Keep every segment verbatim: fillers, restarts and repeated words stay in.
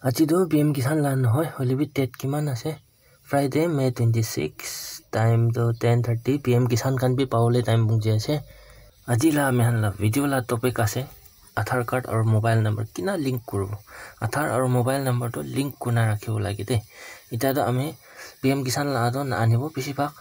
Aji tu P M Kisan la nohoi, hoile bi date kiman ase? Friday, May twenty-six, time tu ten thirty P M Kisan khan bi pawole time pungji ase. Aji la ami khan la video la topic ase Aadhaar card aru mobile number kina link kuribo. Aadhaar aru mobile number tu link kurina rakhibo lage de. Itya tu ami P M Kisan la tu na anibo bisi bhag.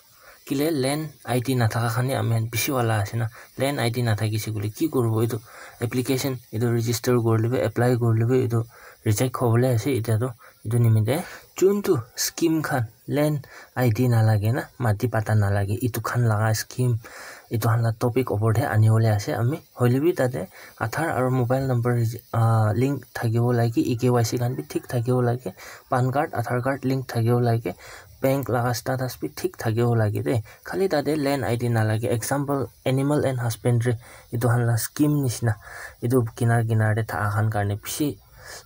Kile land I D nathaka khan he ami khan bishi wala ase na. Land I D nathakise koile ki kuribo etu application, etu register kurile bi, apply kurile bi etu reject hobole ase itya tu. Etu nimite juntu scheme khan land I D nalage na, mati pata nalage, etu khan laga scheme, etu khan la topic opor te anibole ase ami. Hoile bi tate Aadhaar aru mobile number, ah, link thakibo lage, E K Y C khan bi thik thakibo lage, PAN card, Aadhaar card link thakibo lage, bank laga status bi thik thakibo lage de. Khali tate land I D nalage. Example, animal and husbandry, etu khan la scheme nishina. Etu kinar kinar te thaka khan karne bishi,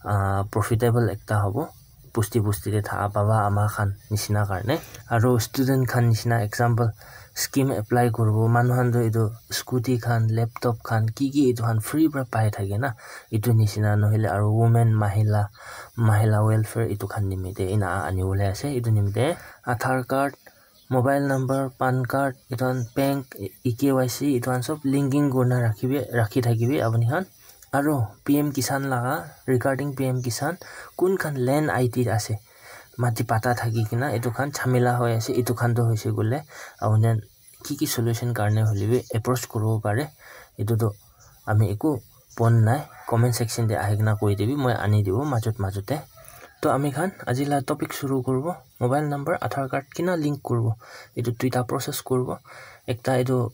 ah, profitable ekta hobo. Busti busti te thaka baba ama khan nishina karne. Aru student khan nishina, example, scheme apply kuribo. Manu khan tu etu scooty khan, laptop khan, ki ki etu khan free pra pai thake na. Etu nishina nohile aru women, mahila, mahila welfare etu khan nimite ena anibole ase. Etu nimite Aadhaar card, mobile number, PAN card, etu khan bank, E K Y C, etu khan sob linking kurina rakhibi, rakhi thakibi apuni khan. Aru P M Kisan laga, regarding P M Kisan, kun khan land I D ase, mati pata thaki kina etu khan jhamela hoi ase, etu khan tu hoise koile apuni khan ki ki solution karne hoile bi approach kuribo pare. Etu tu ami eku pon nai, comment section te ahi kena koi dibi, moi ani dibo majot majot te. To ami khan aji la topic shuru kuribo, mobile number, Aadhaar card kina link kuribo. Etu duita process kuribo. Ekta etu,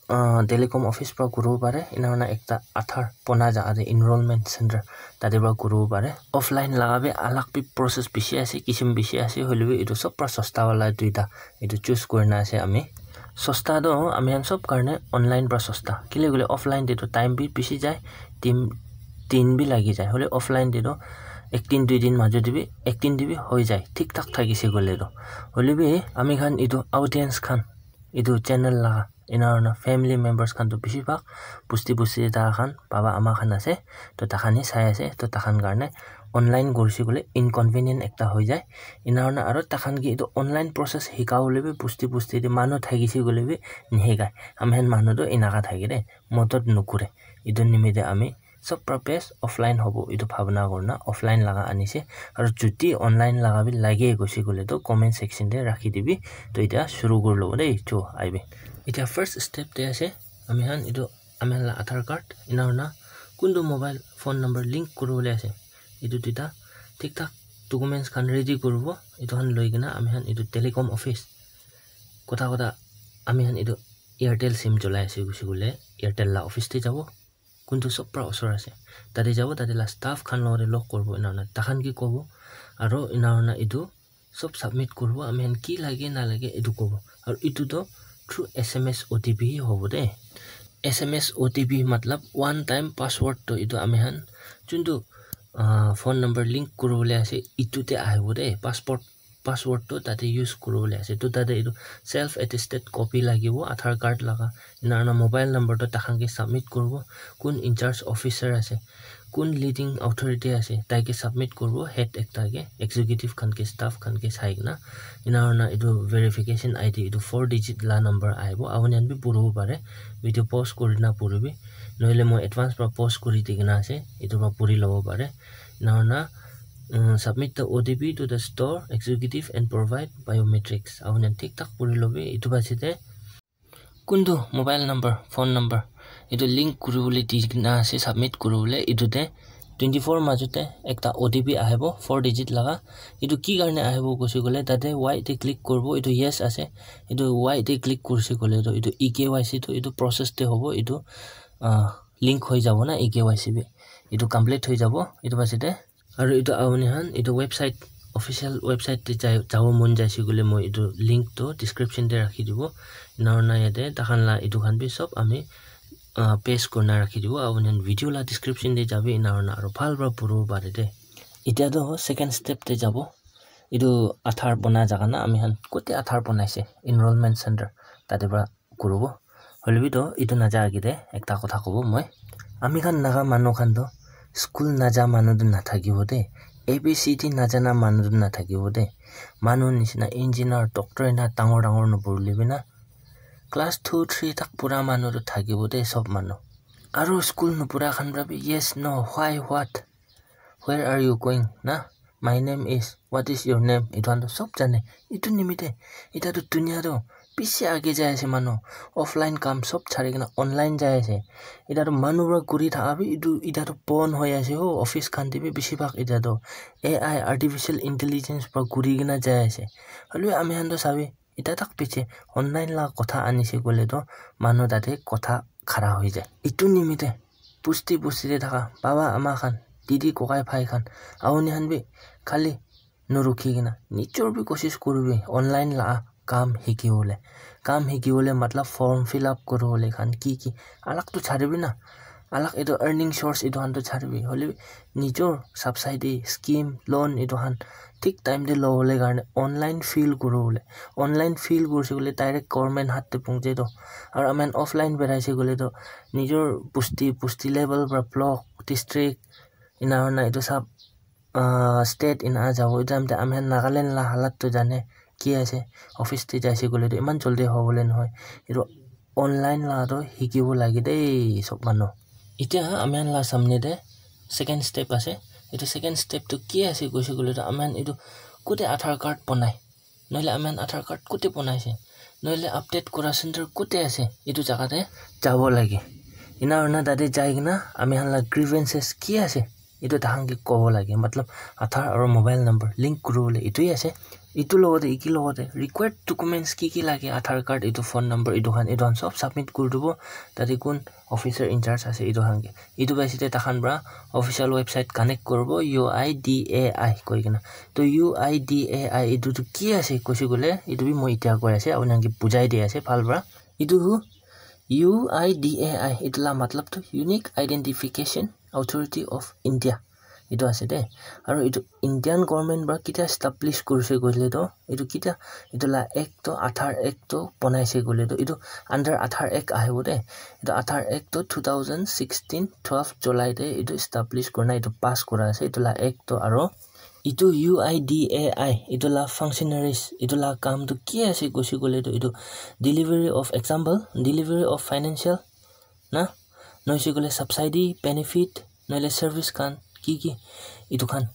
ah, telecom office pra kuribo pare, ena hoina ekta Aadhaar bona jaga te enrollment center tate pra kuribo pare. Offline laga bi alag bi process bishi ase, kisim bishi ase, hoile bi etu sob pra sosta wala duita etu choose kurina ase ami. Sosta toh ami khan sob karne online pra sosta. Kile koile offline te toh time bi bishi jai, din, din bi lagi jai. Hoile offline te toh ek din, dui din majot te bi, ek din te bi hoi jai. Thik thak thakise koile toh. Hoile bi ami khan etu audience khan, etu channel la, ena hoina family members khan toh bishi bhag busti busti te thaka khan, baba ama khan ase. Toh takhan he sai ase. Toh takhan karne online kurise koile inconvenient ekta hoi jai. Ena hoina aru takhan ke etu online process hika bole bi busti busti te manu thakise koile bi nihikai. Ami khan manu toh enaka thake de, modot nukure. Etu nimite ami sob pra best offline hobo, etu bhabna kurina offline laga anise. Aru jodi online laga bi lage koise koile toh comment section te rakhi dibi. Toh itya shuru kuri lobo de, cho aibi. Itya first step te ase, ami khan etu ami khan la Aadhaar card, ena hoina kuntu mobile phone number link kuribole ase, etu duita thik thak documents khan ready kuribo. Etu khan loi kena ami khan etu telecom office, kotha kotha ami khan etu Airtel sim cholai ase koise koile Airtel la office te jabo, kuntu sob pra osor ase, tate jabo, tate la staff khan logote log kuribo, ena hoina takhan ke kobo, aru ena hoina etu sob submit kuribo, ami khan ki lage na lage etu kobo. Aru etu toh through S M S O T P hi hobo de. S M S O T P matlab one time password toh etu ami khan juntu, ah, phone number link kuribole ase, etu te ahibo de. Passport, password toh tate use kuribole ase. Toh tate etu self attested copy lagibo, Aadhaar card laga, ena hoina mobile number toh takhan ke submit kuribo, kun in charge officer ase, kun leading authority ase, tai ke submit kuribo, head ekta ke, executive khan ke, staff khan ke sai kena. Ena hoina etu verification I D, etu four digit la number ahibo, apuni khan bi puribo pare, video pause kurina puribi, nohole moi advance pra pause kuri di kena ase, etu pra puri lobo pare. Ena hoina, mm, submit the O T P to the store executive and provide biometrics. Apuni khan thik thak puri lobi, etu pase te kuntu mobile number, phone number, etu link kuribole di kena ase, submit kuribole. Etu te twenty four majot te ekta O T P ahibo, four digit laga. Etu ki karne ahibo koise koile, tate Y te click kuribo, etu yes ase. Etu Y te click kurise koile toh etu E K Y C toh etu process te hobo, etu, ah, link hoi jabo na E K Y C bi. Etu complete hoi jabo, etu pase te. Aru etu apuni khan etu website, official website te jai, jabo mon jaise koile moi etu link toh description te rakhi dibo. Ena hoina yate takhan la etu khan bi sob ami, ah, paste kurina rakhi dibo. Apuni khan video la description te jabi, ena hoina aru bhal pra puribo pare de. Itya toh second step te jabo. Etu Aadhaar bona jaga na, ami khan kote Aadhaar bonaise, enrollment center, tate pra kuribo. Hoile bi toh etu naja age te ekta kotha kobo moi. Ami khan Naga manu khan toh School naja manu tu nathakibo de, A B C D najana manu tu nathakibo de. Manu nishina engineer, doctor ena dangor dangor nupurule bi na, class two, three tak pura manu tu thakibo de, sob manu. Aru school nupura khan pra bi yes, no, why, what, where are you going, na, my name is, what is your name, etu khan tu sob jane. Etu nimite eta tu dunia tu bishi age jai ase, manu offline kam sob chari kena online jai ase. Eta tu manu pra kuri thaka bi etu eta tu bon hoi ase ho, office khan te bi bishi bhag eta tu A I, artificial intelligence pra kuri kena jai ase. Hoilebi ami khan tu sabi, eta tak piche online la kotha anise koile tu manu tate kotha khara hoi jai. Etu nimite busti busti te thaka baba ama khan, didi kokai bhai khan, auni khan bi khali nurukhi kena nijor bi koshish kuribi online la kam hikibole. Kam hikibole matlab form fill up kuribole khan ki ki alag tu charibi na, alag etu earning source etu khan tu charibi, hoilebi nijor subsidy scheme, loan etu khan thik time te lobole karne online fill kuribole. Online fill kurise koile direct government hath te punche to. Aru ami khan offline beraise koile to nijor busti, busti level pra block, district, ena hoina etu sab, ah, state ena jabo. Etu time te ami khan Nagaland la halat to jane ki ase, office te jaise koile to eman joldi hobole nohoi. Etu online la to hikibo lage de sob manu. Etia ami khan la samne te second step ase. Etu second step tu ki ase koise koile to ami khan etu kote Aadhaar card banai, nohole ami khan Aadhaar card kote banai ase, nohole update kura center kote ase, etu jaga te jabo lage. Ena hoina tate jai kena ami khan la grievances ki ase etu tahan ke kobo lage. Matlab Aadhaar aru mobile number link kuribole etu hi ase. Etu logote, eki logote required documents ki ki lage, Aadhaar card, etu phone number, etu khan, etu khan sob submit kuri dibo. Tate kun officer in charge ase etu khan ke. Etu paise te takhan pra official website connect kuribo, U I D A I koi kena. To U I D A I etu tu ki ase koise koile, etu bi moi etia koi ase, apuni khan ke bujai di ase bhal pra. Etu hu U I D A I, etu la matlab tu Unique Identification Authority of India. Etu ase de. Aru etu Indian government pra ketia establish kurise koile to, etu ketia, etu la act to, Aadhaar Act to banaise koile to, etu under Aadhaar Act ahibo de. Etu Aadhaar Act to two thousand sixteen twelve July te etu establish kurina etu pass kura ase etu la act to. Aru etu U I D A I, etu la functionaries, etu la kam tu ki ase koise koile to, etu delivery of, example, delivery of financial na, noise koile subsidy, benefit, nohole service khan ki ki, etu khan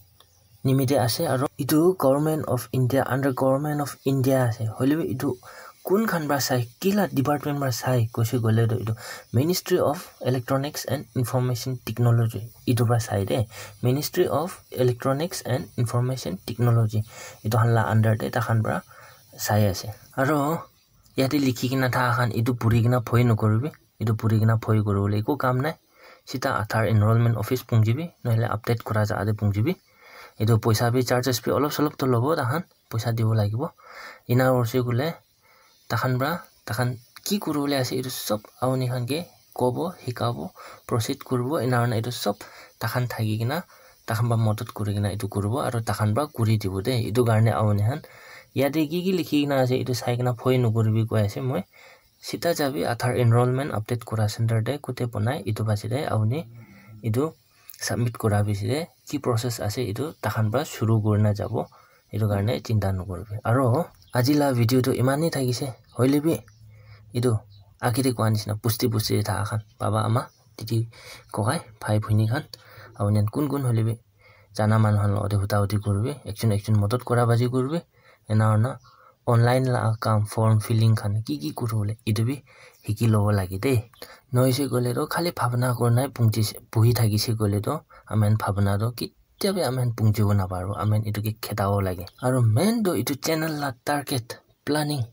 nimite ase. Aru etu Government of India, under Government of India ase. Hoilebi etu kun khan pra sai, kila department pra sai koise koile to etu Ministry of Electronics and Information Technology etu pra sai de. Ministry of Electronics and Information Technology etu khan la under te takhan pra sai ase. Aru yate likhi kena thaka khan etu puri kena bhoi nokoribi. Etu puri kena bhoi kuribole eku kam nai. Sita Aadhaar enrollment office punchibi, nohole update kura jaga te punchibi. Etu poisa bi, charges bi olop solop to lobo takhan, poisa dibo lagibo. Ena hoise koile takhan pra, takhan ki kuribole ase etu sob apuni khan ke kobo, hikabo, proceed kuribo. Ena hoina etu sob takhan thaki kena, takhan pra madad kuri kena etu kuribo aru takhan pra kuri dibo de. Etu karne apuni khan yate ki ki likhi kena ase etu sai kena bhoi nokoribi koi ase moi. Sita jabi Aadhaar enrollment update kura center te kote banai, etu paise te apuni etu submit kura piche te ki process ase etu takhan pra shuru kurina jabo. Etu karne chinta nokoribi. Aru aji la video tu eman hi thakise, hoilebi etu age te koa nishina busti busti te thaka khan, baba ama, didi kokai, bhai bhoni khan, apuni khan kun kun hoilebi jana manu khan logote huta huti kuribi, ekjon ekjon madad kura baji kuribi. Ena hoina online la kam, form filling khan ki ki kuribole etu bi hiki lobo lage de. Noise koile to khali bhabna kurina punchi, buhi thakise koile to ami khan bhabna to ketia bi ami khan punchibo naparibo. Ami khan etu ke khetabo lage. Aru main to etu channel la target, planning,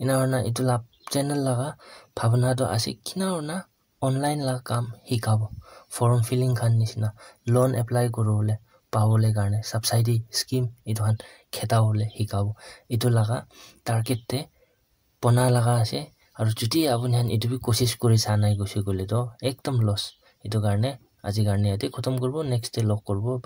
ena hoina etu la channel laga bhabna to ase kina hoina online la kam hikabo, form filling khan nishina, loan apply kuribole, pabole karne, subsidy scheme etu khan khetabole hikabo. Etu laga target te bona laga ase. Aru jodi apuni khan etu bi koshish kuri sa nai koise koile to ekdom loss. Etu karne aji karne yate khotom kuribo, next te log kuribo.